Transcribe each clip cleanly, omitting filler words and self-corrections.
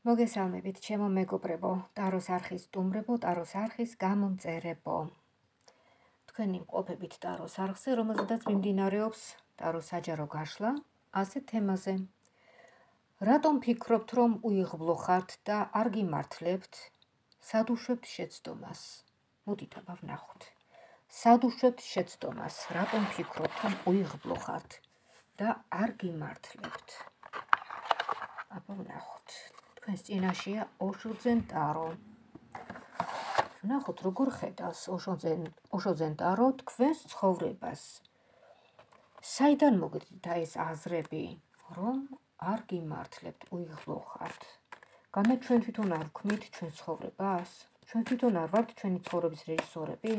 მოგესალმებით, ჩემო მეგობრებო, ტაროს არხის სტუმრებო, ტაროს არხის გამომწერებო. თქვენი მყოფებით ტაროს არხზე, რომელზედაც მიმდინარეობს ტაროს საჯარო გაშლა, ასეთ თემაზე. რატომ ფიქრობთ, რომ უიღბლო ხართ და არ გიმართლებთ? სად უშვებთ შეცდომას? მოდით აბა ვნახოთ. სად უშვებთ შეცდომას? რატომ ფიქრობთ, რომ უიღბლო ხართ და არ გიმართლებთ? აბა ვნახოთ. თქვენს წინაშეა ოშოძენ ტარო. ვნახოთ, როგორ ხედავს ოშოძენ ტარო თქვენს ცხოვრებას. საიდან მოგდით ეს აზრები, რომ არ გიმართლებთ, უიღბლო ხართ? განა ჩვენ თვითონ არ ვქმნით ჩვენს ცხოვრებას? ჩვენ თვითონ არ ვართ ჩვენი ცხოვრების რეჟისორები?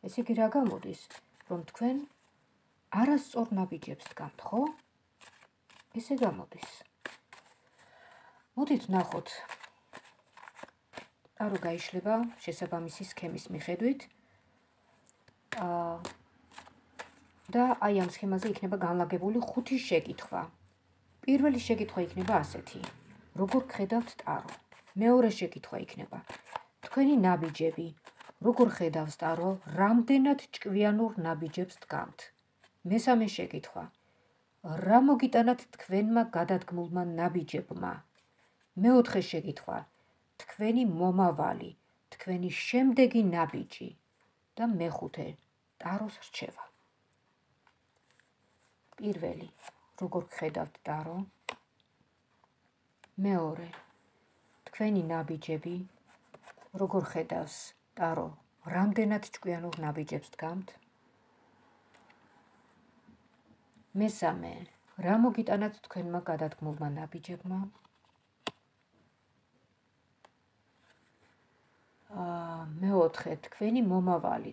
ეს იგი რა გამოდის, რომ თქვენ არასწორ ნაბიჯებს დგამთ, ხო? ესე გამოდის. მოდით ვნახოთ. ტარო გაიშლება შესაბამისი სქემის მიხედვით. და აი ამ სქემაზე იქნება განლაგებული 5 შეკითხვა. პირველი შეკითხვა იქნება ასეთი: როგორ ხედავთ ტარო? მეორე შეკითხვა იქნება: თქვენი ნაბიჯები, როგორ ხედავს ტარო, რამდენად ჭკვიანურ ნაბიჯებს დგამთ? მესამე შეკითხვა: რა მოგიტანათ თქვენმა გადადგმულმა ნაბიჯებმა? მეოთხე შეკითხვა: თქვენი მომავალი, თქვენი შემდეგი ნაბიჯი და მეხუთე ტაროს რჩევა. პირველი, როგორ ხედავთ ტარო? მეორე, თქვენი ნაბიჯები, როგორ ხედავს ტარო, რამდენად ჭკვიანურ ნაბიჯებს დგამთ? მესამე, რა მოგიტანათ თქვენმა გადადგმულმა ნაბიჯებმა? მეოთხე, თქვენი მომავალი,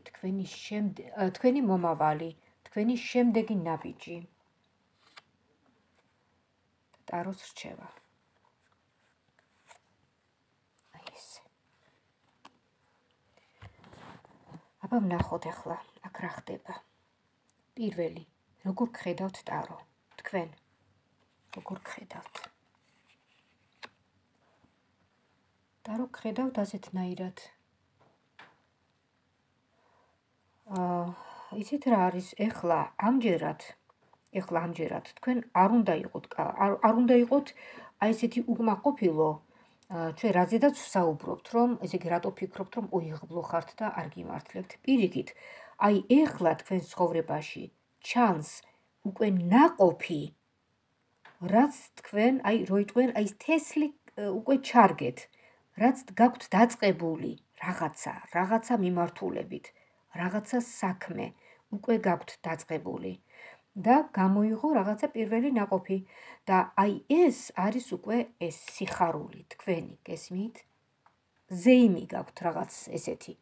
თქვენი შემდეგი ნაბიჯი და ტაროს რჩევა. აი ესე. აბა ვნახოთ ახლა, აქ რა ხდება. პირველი, როგორ გხედავთ ტარო? თქვენ როგორ გხედავთ? ტარო გხედავთ ასეთნაირად. იცით რა არის? ეხლა ამჯერად თქვენ არ უნდა იყოთ აი ესეთი უკმაყოფილო, ჩვენ რაზედაც ვსაუბრობთ, რომ ესე იგი რატო ფიქრობთ, რომ უიღბლო ხართ და არ გიმართლებთ? პირიქით, აი ეხლა თქვენს ცხოვრებაში ჩანს უკვე ნაყოფი, რაც თქვენ აი როიტყვენ აი თესლი უკვე ჩარგეთ, რაც გაქვთ დაწყებული რაღაცა მიმართულებით, რაღაცა საქმე უკვე გაქვთ დაწყებული და გამოიღო რაღაცა პირველი ნაყოფი და აი ეს არის უკვე ეს სიხარული თქვენი, გესმით? ზეიმი გაქვთ რაღაც ესეთი.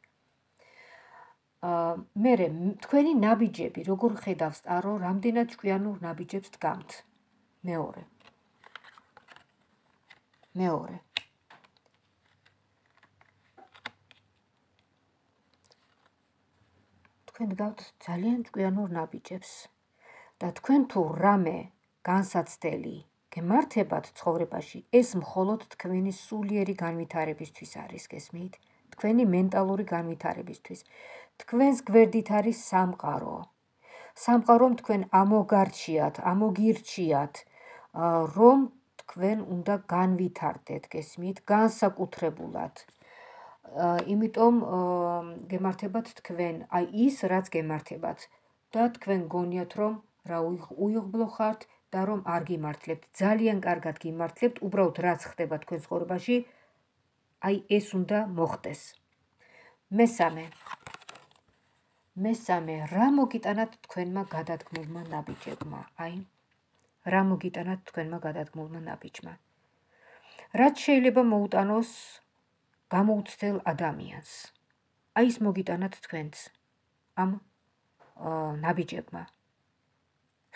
მერე თქვენი ნაბიჯები, როგორ ხედავს ტარო, რამდენად ჭკვიანურ ნაბიჯებს დგამთ? მეორე. თქვენ დგავთ ძალიან ჭკვიანურ ნაბიჯებს და თქვენ თუ რამე განსაცდელი გემართებათ ცხოვრებაში, ეს მხოლოდ თქვენი სულიერი განვითარებისთვის არის, გესმით? თქვენი მენტალური განვითარებისთვის. თქვენს გვერდით არის სამყარო. სამყარომ თქვენ ამოგირჩიათ, რომ თქვენ უნდა განვითარდეთ, გესმით? განსაკუთრებულად. იმიტომ გემართებათ თქვენ, აი ის, რაც გემართებათ და თქვენ გონიათ, რომ რა უიღბლო ხართ და რომ არ გიმართლებთ. ძალიან კარგად გიმართლებთ, უბრალოდ რაც ხდება თქვენ ცხოვრებაში, აი ეს უნდა მოხდეს. მესამე, რა მოგიტანათ თქვენმა გადადგმულმა ნაბიჯებმა? აი, რა მოგიტანათ თქვენმა გადადგმულმა ნაბიჯმა? რაც შეიძლება მოუტანოს გამოუცდელ ადამიანს? აი ის მოგიტანათ თქვენც ამ ნაბიჯებმა.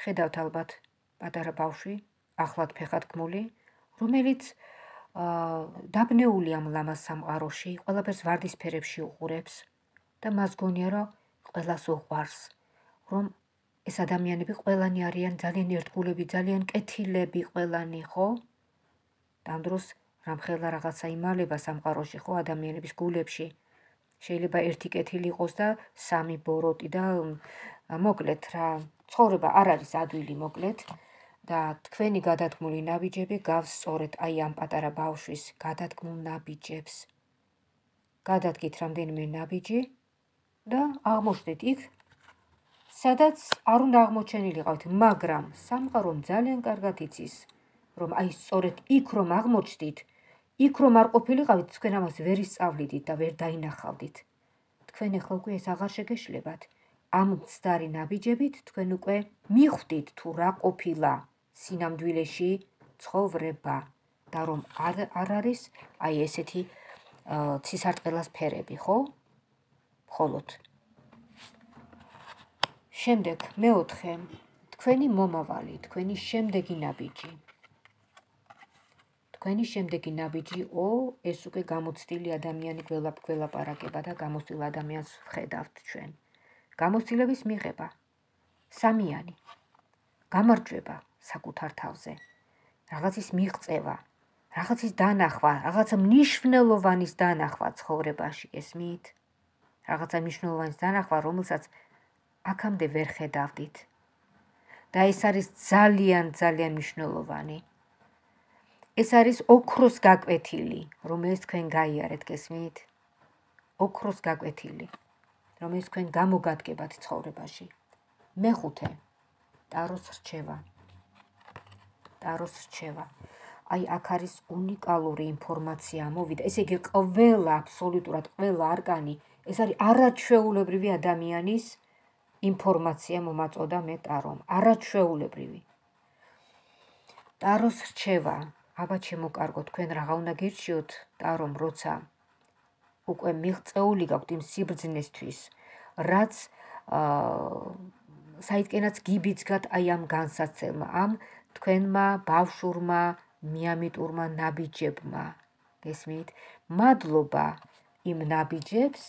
ხედავთ ალბათ პატარა ბავშვი, ახლად ფეხადგმული, რომელიც დაბნეული ამ ლამაზ სამყაროში, ყველაფერს ვარდისფერებში უყურებს და მას გონია, რომ ყველას უყვარს, რომ ეს ადამიანები ყველანი არიან ძალიან ერთგულები, ძალიან კეთილები ყველანი, ხო? და ამ დროს რამხელა რაღაცა იმალება სამყაროში, ხო, ადამიანების გულებში. შეიძლება ერთი კეთილი იყოს და სამი ბოროტი და მოკლედ რა, ცხოვრება არ არის ადვილი მოკლედ და თქვენი გადადგმული ნაბიჯები გავს სწორედ აი ამ პატარა ბავშვის გადადგმულ ნაბიჯებს. გადადგით რამდენიმე ნაბიჯი და აღმოჩნდით იქ, სადაც არ უნდა აღმოჩენილიყავთ, მაგრამ სამყარომ ძალიან კარგად იცის, რომ აი სწორედ იქ რომ აღმოჩნდით, იქ რომ არ ყოფილიყავით, თქვენ ამას ვერ ისწავლიდით და ვერ დაინახავდით. თქვენ ახლა უკვე ეს აღარ შეგეშლებათ. ამ მცდარი ნაბიჯებით თქვენ უკვე მიხვდით თუ რა ყოფილა სინამდვილეში ცხოვრება და რომ არ არის აი ესეთი ცისარტყელას ფერები, ხო? მხოლოდ. შემდეგ მეოთხე, თქვენი მომავალი, თქვენი შემდეგი ნაბიჯი. თქვენი შემდეგი ნაბიჯი, ეს უკვე გამოცდილი ადამიანი გველაპარაკება და გამოცდილ ადამიანს ვხედავთ ჩვენ. გამოცდილების მიღება, სამიანი, გამარჯვება საკუთარ თავზე, რაღაცის მიღწევა, რაღაცის დანახვა, რაღაცა მნიშვნელოვანის დანახვა ცხოვრებაში, გესმით? რაღაცა მნიშვნელოვანის დანახვა, რომელსაც აქამდე ვერ ხედავდით. და ეს არის ძალიან, ძალიან მნიშვნელოვანი. ეს არის ოქროს გაკვეთილი, რომელიც თქვენ გაიარეთ, გესმით? ოქროს გაკვეთილი, რომელიც თქვენ გამოგადგებათ ცხოვრებაში. მეხუთე, ტაროს რჩევა. ტაროს რჩევა. აი აქ არის უნიკალური ინფორმაცია მოვიდა. ესე იგი ყველა, აბსოლუტურად ყველა არკანი, ეს არის არაჩვეულებრივი ადამიანის ინფორმაცია მომაწოდა მე ტარომ. არაჩვეულებრივი. ტაროს რჩევა. აბა ჩემო კარგო, თქვენ რაღა უნდა გირჩიოთ ტარომ, როცა უკვე მიღწეული გაქვთ იმ სიბრძნესთვის, რაც საიდკენაც გიბიძგათ აი ამ განსაცდელმა, ამ თქვენმა ბავშვურმა მიამიტურმა ნაბიჯებმა. გესმით? მადლობა იმ ნაბიჯებს,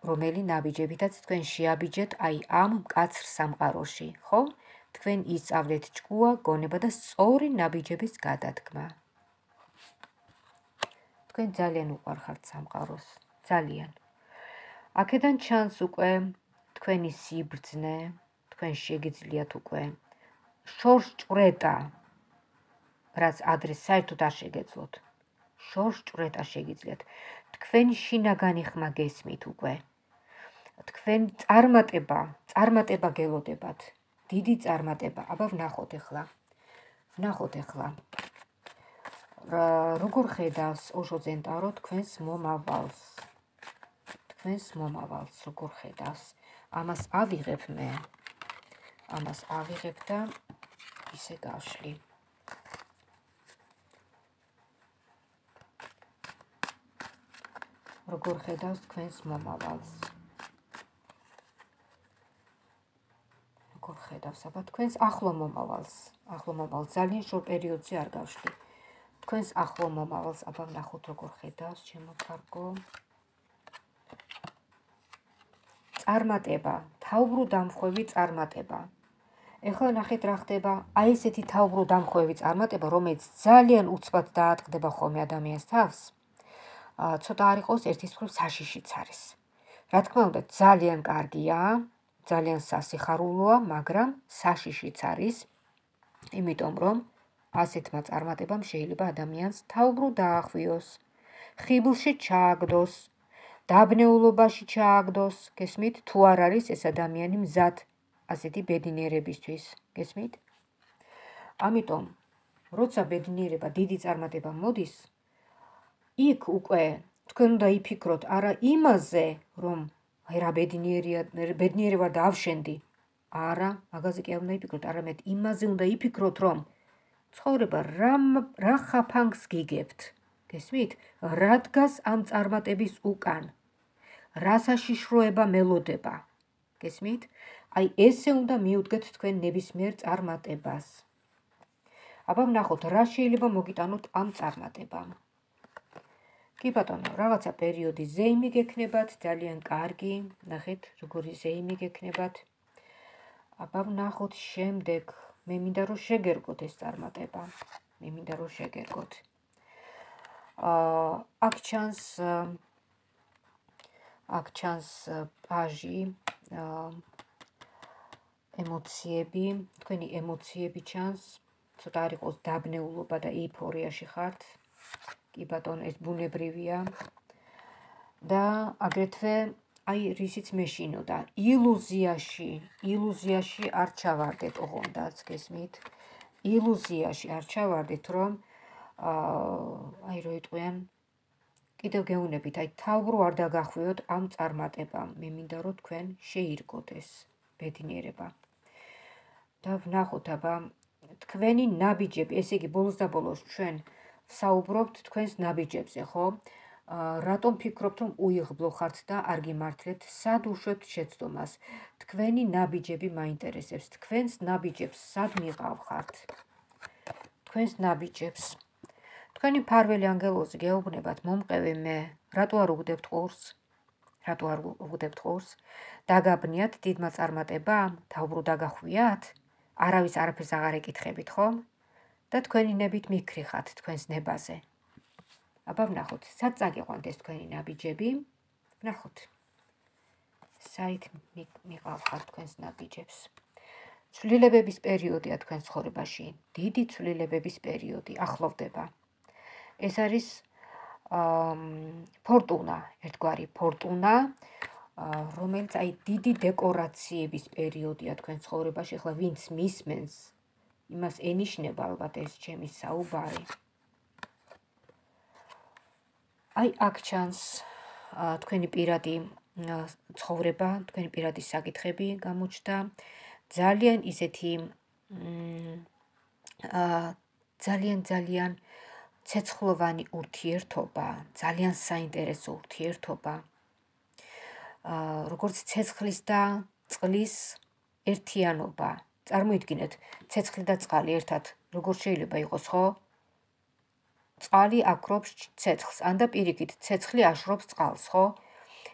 რომელი ნაბიჯებითაც თქვენ შეაბიჯეთ აი ამ მკაცრ სამყაროში, ხო? თქვენ ისწავლეთ ჭკუა, გონება და სწორი ნაბიჯების გადადგმა. თქვენ ძალიან უყვარხართ სამყაროს, ძალიან. აქედან ჩანს უკვე თქვენი სიბრძნე, თქვენ შეგიძლიათ უკვე შორსჭვრეტა, რაც ადრე საერთოდ არ შეგეძლოთ. შორსჭვრეტა შეგიძლიათ. თქვენ შინაგანი ხმა გესმით უკვე. თქვენ წარმატება გელოდებათ. დიდი წარმატება. აბა ვნახოთ ახლა. როგორ ხედავს ოშო ზენტარო თქვენს მომავალს. თქვენს მომავალს როგორ ხედავს. ამას ავიღებ მე. ამას ავიღებ და ისე გავშლი. როგორ ხედავს თქვენს მომავალს. როგორ ხედავს, აბა თქვენს ახლო მომავალს. ახლო მომავალს ძალიან შორ პერიოდზე არ გავშლი. თქვენს ახლო მომავალს, აბა ვნახოთ როგორ ხედავს, ჩემო კარგო. წარმატება, თავბრუდამხვევი წარმატება. ეხლა ნახეთ რა ხდება, აი ესეთი თავბრუდამხვევი წარმატება, რომელიც ძალიან უცბად დაატყდება ხოლმე ადამიანს თავს. ცოტა არ იყოს ერთის მხრივ საშიშიც არის. რა თქმა უნდა, ძალიან კარგია, ძალიან სასიხარულოა, მაგრამ საშიშიც არის, იმიტომ რომ ასეთმა წარმატებამ შეიძლება ადამიანს თავბრუდ დაახვიოს, ხიბლში ჩააგდოს, დაბნეულობაში ჩააგდოს, გესმით, თუ არ არის ეს ადამიანი მზად ასეთი ბედნიერებისთვის, გესმით? ამიტომ, როცა ბედნიერება, დიდი წარმატება მოდის, იქ უკვე თქვენ უნდა იფიქროთ არა იმაზე, რომ აი რა ბედნიერი ვარ და ავშენდი. არა, მაგაზე კი არ უნდა იფიქროთ, არამედ იმაზე უნდა იფიქროთ, რომ ცხოვრება რა ხაფანგს გიგებთ. გესმით? რა დგას ამ წარმატების უკან? რა საშიშროება მელოდება? გესმით? აი ესე უნდა მიუდგეთ თქვენ ნებისმიერ წარმატებას. აბა ვნახოთ, რა შეიძლება მოგიტანოთ ამ წარმატებამ. კი ბატონო, რაღაცა პერიოდი ზეიმი გექნებათ, ძალიან კარგი, ნახეთ, როგორი ზეიმი გექნებათ. აბა ვნახოთ შემდეგ, მე მინდა რომ შეგერგოთ ეს წარმატება. მე მინდა რომ შეგერგოთ. აქ ჩანს პაჟი, ემოციები, თქვენი ემოციები ჩანს, ცოტა არ იყოს დაბნეულობა და ეიფორიაში ხართ. კი ბატონო, ეს ბუნებრივია. და აგრეთვე აი რისიც მეშინო და ილუზიაში არ ჩავარდეთ ოღონდაც, გესმით? ილუზიაში არ ჩავარდეთ, რომ აი რო იტყვიან, კიდევ გეუნებით, აი თავბრო არ დაგახვიოთ ამ წარმატებამ. მე მინდა რომ თქვენ შეირგოთ ეს ბედნიერება. და ვნახოთ აბა თქვენი ნაბიჯები, ესე იგი ბოლოს და ბოლოს ჩვენ ვსაუბრობთ თქვენს ნაბიჯებზე, ხო? რატომ ფიქრობთ, რომ უიღბლო ხართ და არ გიმართლებთ? სად უშვებთ შეცდომას? თქვენი ნაბიჯები მაინტერესებს. თქვენს ნაბიჯებს სად მიყავხართ? თქვენს ნაბიჯებს. თქვენი მფარველი ანგელოზი გეუბნებათ, მომყევი მე, რატო არ უგდებთ ყურს? რატო არ უგდებთ ყურს? დაგაბნიათ დიდმა წარმატებამ? თავბრო დაგახვიათ? არავის არაფერს აღარ ეკითხებით, ხომ? და თქვენი ნებით მიქრიხათ თქვენს ნებაზე. აბა ვნახოთ, სად წაგიყვანთ ეს თქვენი ნაბიჯები? ვნახოთ. საით მიყავხართ თქვენს ნაბიჯებს? ცვლილებების პერიოდია თქვენ ცხოვრებაში. დიდი ცვლილებების პერიოდი ახლოვდება. ეს არის ფორტუნა, ერთგვარი ფორტუნა, რომელიც აი დიდი დეკორაციების პერიოდია თქვენ ცხოვრებაში. ახლა ვინც მისმენს, იმას ენიშნება ალბათ ეს ჩემი საუბარი. აი აქ ჩანს თქვენი პირადი ცხოვრება, თქვენი პირადი საკითხები გამოჩნდა. ძალიან ისეთი ძალიან ცეცხლოვანი ურთიერთობა, ძალიან საინტერესო ურთიერთობა. როგორც ცეცხლის და წყლის ერთიანობა. წარმოიდგინეთ, ცეცხლი და წყალი ერთად როგორ შეიძლება იყოს, ხო? წყალი აქრობს ცეცხლს, ან და პირიქით, ცეცხლი აშრობს წყალს, ხო?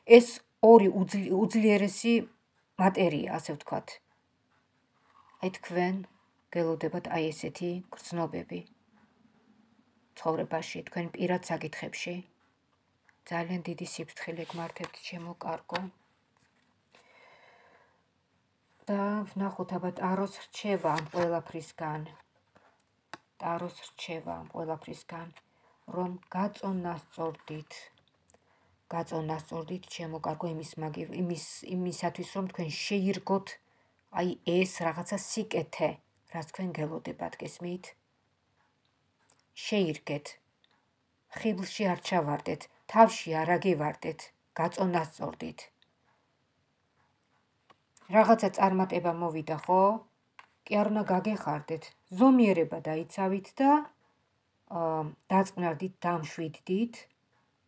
ეს ორი უძლიერესი მატერია, ასე ვთქვათ. აი თქვენ გელოდებათ აი ესეთი გრძნობები ცხოვრებაში, თქვენ პირად საკითხებში. ძალიან დიდი სიფრთხილე გმართებთ, ჩემო კარგო. და ვნახოთ აბა ტაროს რჩევა ამ ყველაფრისგან. ტაროს რჩევა ამ ყველაფრისგან, რომ გაწონასწორდით, ჩემო კარგო, იმისათვის, რომ თქვენ შეირგოთ აი ეს რაღაცა სიკეთე, რაც თქვენ გელოდებათ, გესმით? შეირგეთ. ხიბლში არ ჩავარდეთ, თავში არ აგივარდეთ, გაწონასწორდით. რაღაცა წარმატება მოვიდა, ხო? კი არ უნდა გაგეხარდეთ, ზომიერება დაიცავით და დაწყნარდით, დამშვიდდით,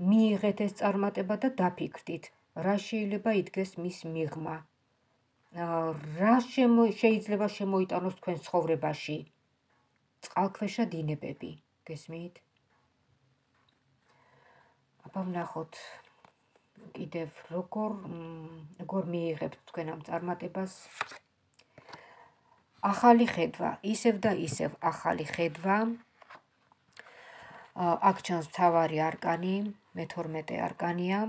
მიიღეთ ეს წარმატება და დაფიქრდით, რა შეიძლება იდგეს მის მიღმა. რა შეიძლება შემოიტანოს თქვენ ცხოვრებაში? წყალქვეშა დინებები, გესმით? აბა ვნახოთ კიდევ როგორ მიიღებთ თქვენ ამ წარმატებას. ახალი ხედვა, ისევ და ისევ ახალი ხედვა. აქ ჩანს მთავარი არკანი, მე-12 არკანია.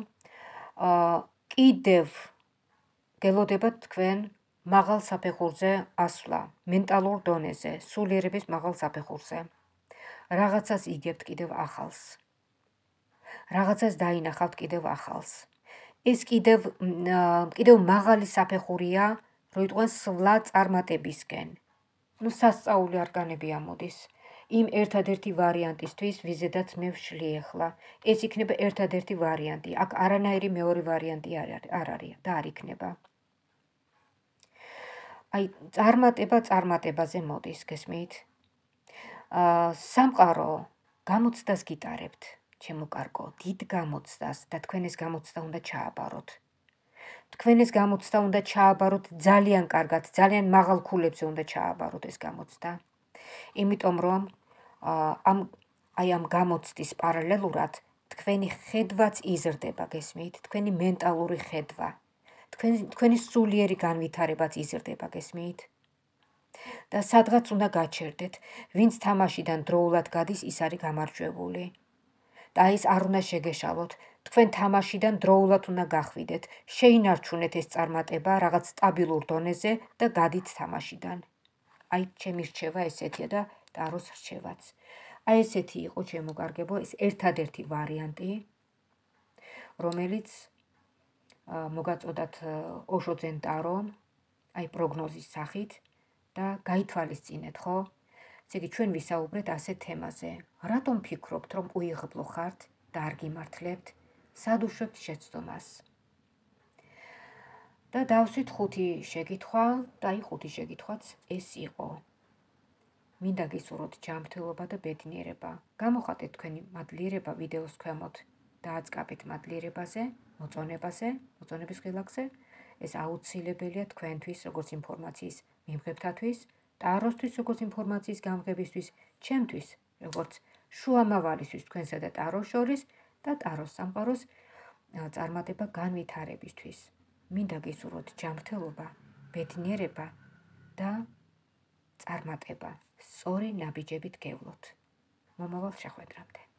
კიდევ გელოდებათ თქვენ მაღალ საფეხურზე ასვლა, მენტალურ დონეზე, სულიერების მაღალ საფეხურზე. რაღაცას იგებთ კიდევ ახალს. რაღაცას დაინახავთ კიდევ ახალს. ეს კიდევ მაღალი საფეხურია, რო იტყვენ სვლა წარმატებისკენ. სასწაული არკანები ამოდის. იმ ერთადერთი ვარიანტისთვის, ვიზედაც მე ვშლი ახლა. ეს იქნება ერთადერთი ვარიანტი. აქ არანაირი მეორე ვარიანტი არ არის და არ იქნება. აი წარმატებაზე მოდის, გესმით? სამყარო გამოცდას გიტარებთ, ჩემო კარგო, დიდ გამოცდას და თქვენ ეს გამოცდა უნდა ჩააბაროთ. თქვენ ეს გამოცდა უნდა ჩააბაროთ ძალიან კარგად, ძალიან მაღალ ქულებზე უნდა ჩააბაროთ ეს გამოცდა. იმიტომ რომ ამ გამოცდის პარალელურად თქვენი ხედვაც იზრდება, გესმით? თქვენი მენტალური ხედვა, თქვენი სულიერი განვითარებაც იზრდება, გესმით? და სადღაც უნდა გაჩერდეთ, ვინც თამაშიდან დროულად გადის, ის არის გამარჯვებული. და ის არ უნდა შეგეშალოთ, თქვენ თამაშიდან დროულად უნდა გახვიდეთ, შეინარჩუნეთ ეს წარმატება რაღაც სტაბილურ დონეზე და გადით თამაშიდან. აი, ჩემი რჩევა ესეთია და ტაროს რჩევაც. აი ესეთი იყო ჩემო კარგებო, ეს ერთადერთი ვარიანტი, რომელიც მოგაწოდათ ოშოძენ ტარო, აი პროგნოზის სახით და გაითვალისწინეთ, ხო? ესე იგი, ჩვენ ვისაუბრეთ ასეთ თემაზე. რატომ ფიქრობთ, რომ უიღბლო ხართ და არ გიმართლებთ? სად უშვებთ შეცდომას? და დავსვით 5 შეკითხვა და აი 5 შეკითხვაც ეს იყო. მინდა გისურვოთ ჯანმრთელობა და ბედნიერება. გამოხატეთ თქვენი მადლიერება ვიდეოს ქვემოთ და აწყაბეთ მადლიერებაზე, მოწონების ღილაკზე. ეს აუცილებელია თქვენთვის, როგორც ინფორმაციის მიმღებთათვის, ტაროსთვის, როგორც ინფორმაციის გამღებისთვის, ჩემთვის, როგორც შუამავალისთვის თქვენსა და ტაროს შორის და ტაროს სამყაროს წარმატება განვითარებისთვის. მინდა გისურვოთ ჯანმრთელობა, ბედნიერება და წარმატება. სწორი ნაბიჯებით გევლოთ. მომავალ შეხვედრამდე.